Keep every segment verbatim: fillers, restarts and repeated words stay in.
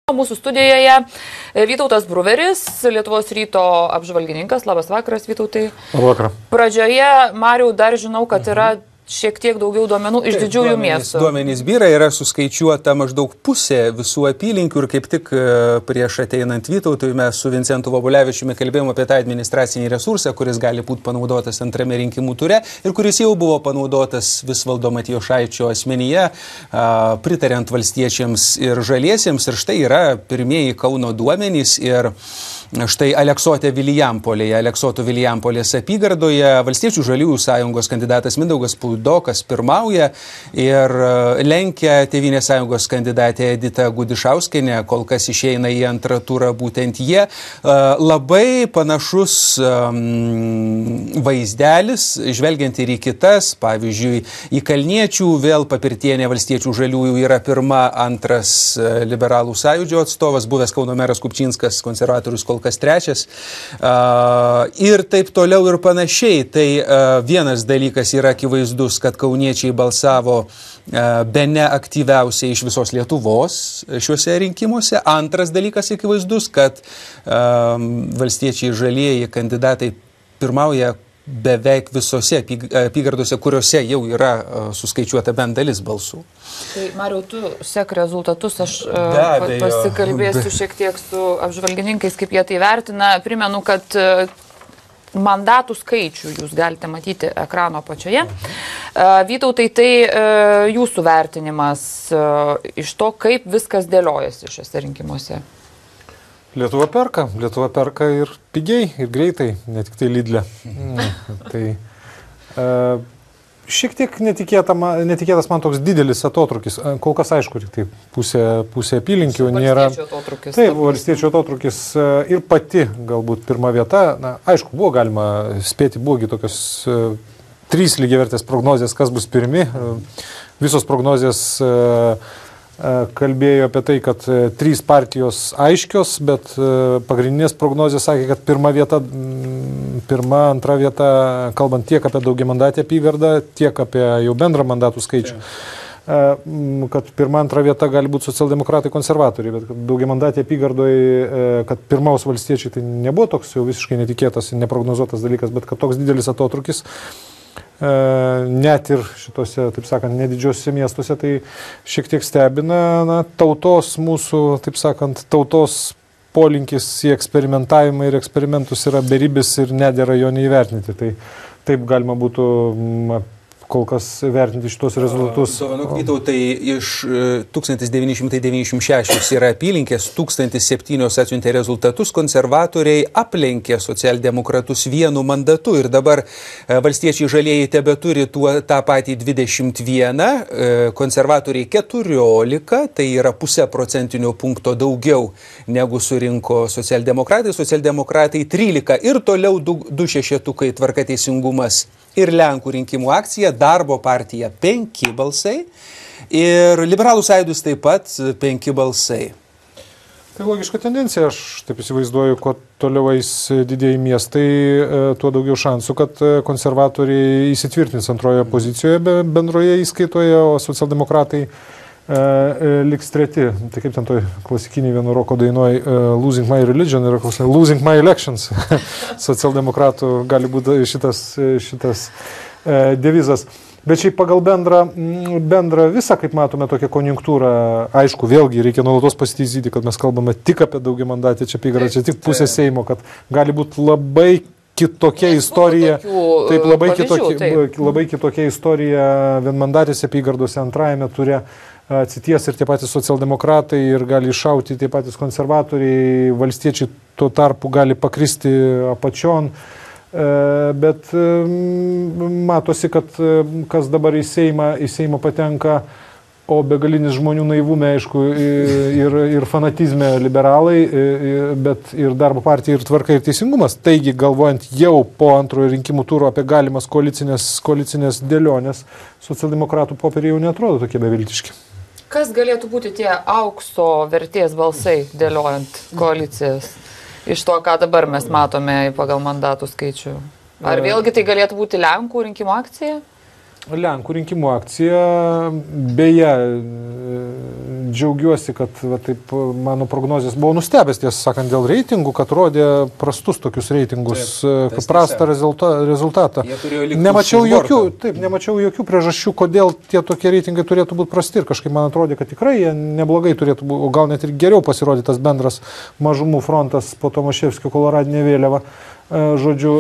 Mūsų studijoje Vytautas Bruveris, Lietuvos ryto apžvalgininkas. Labas vakaras, Vytautai. Labas vakaras. Pradžioje, Mariau, dar žinau, kad yra šiek tiek daugiau duomenų iš didžiųjų miestų. Duomenys byra, yra suskaičiuota maždaug pusė visų apylinkių ir kaip tik prieš ateinant Vytautui mes su Vincentu Vobulevičiumi kalbėjome apie tą administracinį resursą, kuris gali būti panaudotas antrame rinkimų ture ir kuris jau buvo panaudotas Visvaldo Matijošaičio asmenyje, pritariant valstiečiams ir žaliesiems. Ir štai yra pirmieji Kauno duomenys ir štai Aleksotė Vilijampolėje, Aleksoto Vilijampolės apygardoje Valstiečių žaliųjų sąjungos kandidatas Mindaugas Puidokas pirmauja ir lenkia Tėvynės sąjungos kandidatė Edita Gudišauskienė, kol kas išeina į antrą turą būtent jie. Labai panašus vaizdelis, žvelgiant ir į kitas, pavyzdžiui, į Kalniečių vėl Papirtienė Valstiečių žaliųjų yra pirma, antras liberalų sąjūdžio atstovas, buvęs Kauno meras Kupčinskas, konservatorius kol kas trečias ir taip toliau ir panašiai. Tai vienas dalykas yra akivaizdus, kad kauniečiai balsavo bene aktyviausiai iš visos Lietuvos šiuose rinkimuose. Antras dalykas akivaizdus, kad valstiečiai žalieji kandidatai pirmauja beveik visose apygardose, kuriuose jau yra suskaičiuota bent dalis balsų. Tai, Mariau, tu sek rezultatus, aš uh, pasikalbėsiu šiek tiek su apžvalgininkais, kaip jie tai vertina. Primenu, kad uh, mandatų skaičių jūs galite matyti ekrano apačioje. Uh, Vytautai, tai uh, jūsų vertinimas uh, iš to, kaip viskas dėliojasi šiuose rinkimuose. Lietuva perka, Lietuva perka ir pigiai, ir greitai, ne tik tai Lidle. Tai e, šiek tiek netikėta, netikėtas man toks didelis atotrukis. Kol kas aišku, tik tai pusė, pusė apylinkių nėra. Taip, valstiečių atotrukis ir pati galbūt pirma vieta. Na, aišku, buvo galima spėti, buvogi tokios e, trys lygiavertės prognozės, kas bus pirmi. Visos prognozės e, kalbėjo apie tai, kad trys partijos aiškios, bet pagrindinės prognozės sakė, kad pirma vieta, pirma, antra vieta, kalbant tiek apie daugiamandatę apygardą, tiek apie jau bendrą mandatų skaičių, kad pirma, antra vieta gali būti socialdemokratai, konservatoriai, bet daugiamandatė apygardoje, kad pirmaus valstiečiai, tai nebuvo toks jau visiškai netikėtas ir neprognozuotas dalykas, bet kad toks didelis atotrukis net ir šitose, taip sakant, nedidžiosiuose miestuose, tai šiek tiek stebina. Na, tautos mūsų, taip sakant, tautos polinkis į eksperimentavimą ir eksperimentus yra beribis ir nedėra jo neįvertinti. Tai taip galima būtų kol kas vertinti šitos rezultatus. Dovanok, Vytautai, iš tūkstantis devyni šimtai devyniasdešimt šeši yra apylinkės, tūkstantis septyni atsiuntė rezultatus, konservatoriai aplenkė socialdemokratus vienu mandatu ir dabar valstiečiai žalieji tebeturi tuo, tą patį dvidešimt vieną, konservatoriai keturiolika, tai yra pusę procentinio punkto daugiau negu surinko socialdemokratai, socialdemokratai trylika ir toliau du, du šešetukai Tvarka teisingumas ir Lenkų rinkimų akcija, Darbo partija penki balsai ir Liberalų sąjūdis taip pat penki balsai. Tai logiška tendencija, aš taip įsivaizduoju, kuo toliau eis didieji miestai, tuo daugiau šansų, kad konservatoriai įsitvirtins antroje pozicijoje bendroje įskaitoje, o socialdemokratai liks treti. Tai kaip ten toj klasikiniai vieno roko dainoj Losing My Religion yra Losing My Elections. Socialdemokratų gali būti šitas, šitas devizas. Bet šiaip pagal bendrą, bendrą visą, kaip matome, tokią konjunktūrą, aišku, vėlgi reikia nuolatos pasitaisyti, kad mes kalbame tik apie daugiamandatę čia apygardą, čia tik pusė Seimo, kad gali būti labai kitokia istorija, taip, labai, kitokia, taip. labai kitokia istorija vienmandatėse apygardose antrajame ture atsities ir tie patys socialdemokratai ir gali iššauti tie patys konservatoriai, valstiečiai tuo tarpu gali pakristi apačion, bet matosi, kad kas dabar į Seimą, į Seimą patenka, o begalinis žmonių naivume, aišku, ir, ir fanatizme liberalai, bet ir Darbo partija, ir Tvarka, ir Teisingumas. Taigi, galvojant jau po antrojo rinkimų turo apie galimas koalicinės, koalicinės dėlionės, socialdemokratų popieriai jau neatrodo tokie beviltiški. Kas galėtų būti tie aukso vertės balsai dėliojant koalicijas iš to, ką dabar mes matome pagal mandatų skaičių? Ar vėlgi tai galėtų būti Lenkų rinkimų akcija? Lenkų rinkimų akcija, beje, džiaugiuosi, kad va, taip, mano prognozijas buvo nustebęs, tiesą sakant, dėl reitingų, kad rodė prastus tokius reitingus, taip, prastą rezulta, rezultatą. Nemačiau jokių, taip, nemačiau jokių priežasčių, kodėl tie tokie reitingai turėtų būti prasti ir kažkaip man atrodė, kad tikrai jie neblogai turėtų būti, o gal net ir geriau pasirodė tas bendras mažumų frontas po Tomaševskio koloradinė vėliava. Žodžiu,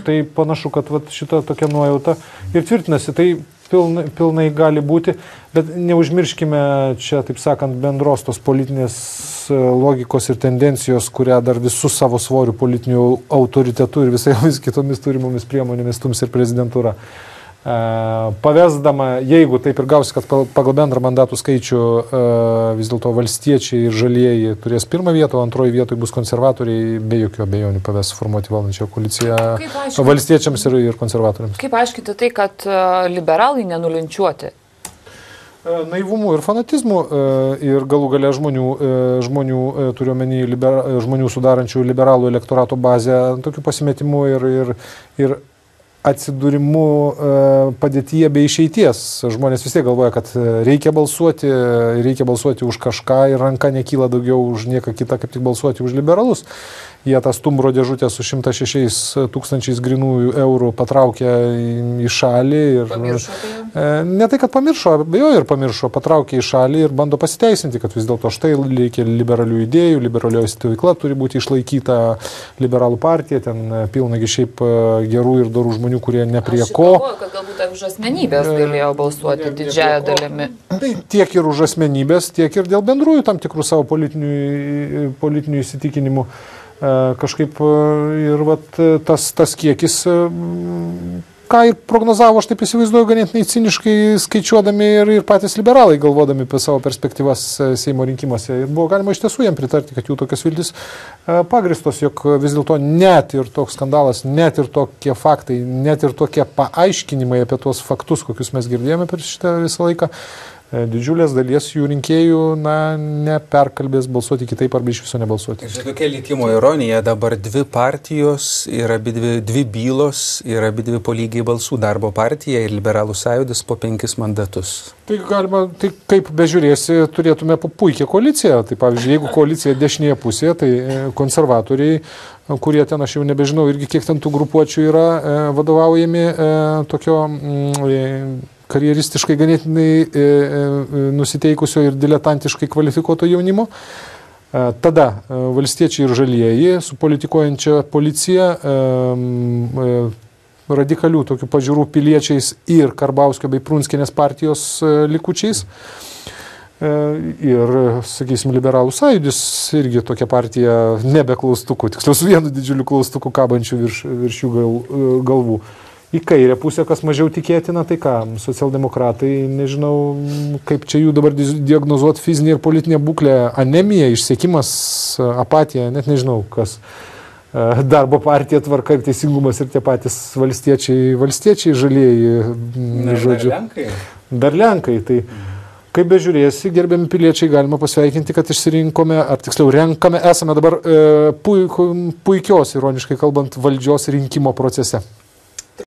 tai panašu, kad vat, šita tokia nuojauta ir tvirtinasi, tai pilnai, pilnai gali būti, bet neužmirškime čia, taip sakant, bendros tos politinės logikos ir tendencijos, kurią dar visų savo svorių politinių autoritetų ir visai kitomis turimomis priemonėmis stums ir prezidentūra. Pavesdama, jeigu taip ir gausi, kad pagal bendrą mandatų skaičių vis dėlto valstiečiai ir žalieji turės pirmą vietą, o antroji vietoje bus konservatoriai, be jokių abejonių paves formuoti valdančią koaliciją valstiečiams ir, ir konservatoriams. Kaip aiškinti tai, kad liberalai nenulinčiuoti? Naivumu ir fanatizmu ir galų gale žmonių, žmonių turiuomenį libera, žmonių sudarančių liberalų elektorato bazę, tokių pasimetimų ir, ir, ir atsidūrimu padėtyje be išeities. Žmonės vis tiek galvoja, kad reikia balsuoti, reikia balsuoti už kažką ir ranka nekyla daugiau už nieką kitą, kaip tik balsuoti už liberalus. Jie tą stumbro dėžutę su šimtas šešiais tūkstančiais grinųjų eurų patraukė į šalį. Ir, pamiršo tai? Ne tai, kad pamiršo, abejoju ir pamiršo, patraukė į šalį ir bando pasiteisinti, kad vis dėlto štai reikia liberalių idėjų, liberalioji stovykla turi būti išlaikyta, liberalų partija, ten pilnagi šiaip gerų ir dorų žmonių, kurie ne prie ko. Aš galvoju, kad galbūt už asmenybės galėjo balsuoti ne, didžiąją dalimi. Tai tiek ir už asmenybės, tiek ir dėl bendrųjų tam tikrų savo politinių, politinių įsitikinimų. Kažkaip ir vat, tas, tas kiekis, ką ir prognozavo, aš taip įsivaizduoju, ganėtinai ciniškai skaičiuodami ir, ir patys liberalai galvodami apie savo perspektyvas Seimo rinkimuose. Ir buvo galima iš tiesų jam pritarti, kad jų tokios viltis pagristos, jog vis dėlto net ir toks skandalas, net ir tokie faktai, net ir tokie paaiškinimai apie tuos faktus, kokius mes girdėjome per šitą visą laiką, didžiulės dalies jų rinkėjų, na, neperkalbės balsuoti kitaip arba iš viso nebalsuoti. Ir tokia likimo ironija, dabar dvi partijos ir abi dvi, dvi bylos ir abi dvi po lygiai balsų, Darbo partija ir Liberalų sąjūdis po penkis mandatus. Tai galima, tai kaip bežiūrėsi, turėtume puikią koaliciją. Tai pavyzdžiui, jeigu koalicija dešinėje pusėje, tai konservatoriai, kurie ten, aš jau nebežinau, irgi kiek ten tų grupuočių yra vadovaujami tokio karjeristiškai ganėtinai e, e, nusiteikusio ir diletantiškai kvalifikuoto jaunimo. E, tada e, valstiečiai ir žalieji su politikuojančia policija, e, e, radikalių tokių pažiūrų piliečiais ir Karbauskio bei Prunskienės partijos e, likučiais. E, ir, sakysim, Liberalų sąjūdis irgi tokia partija nebe klaustukų, tiksliau su vienu didžiuliu klaustuku kabančiu virš, virš jų gal, galvų. Į kairę pusę, kas mažiau tikėtina, tai ką, socialdemokratai, nežinau, kaip čia jų dabar diagnozuoti fizinė ir politinė būklė, anemija, išsekimas, apatija, net nežinau, kas. Darbo partija, Tvarka ir Teisingumas ir tie patys valstiečiai, valstiečiai žalieji, žodžiu. Dar Lenkai. Dar Lenkai, tai kaip bežiūrėsi, gerbiami piliečiai, galima pasveikinti, kad išsirinkome, ar tiksliau renkame, esame dabar e, puik, puikios, ironiškai kalbant, valdžios rinkimo procese.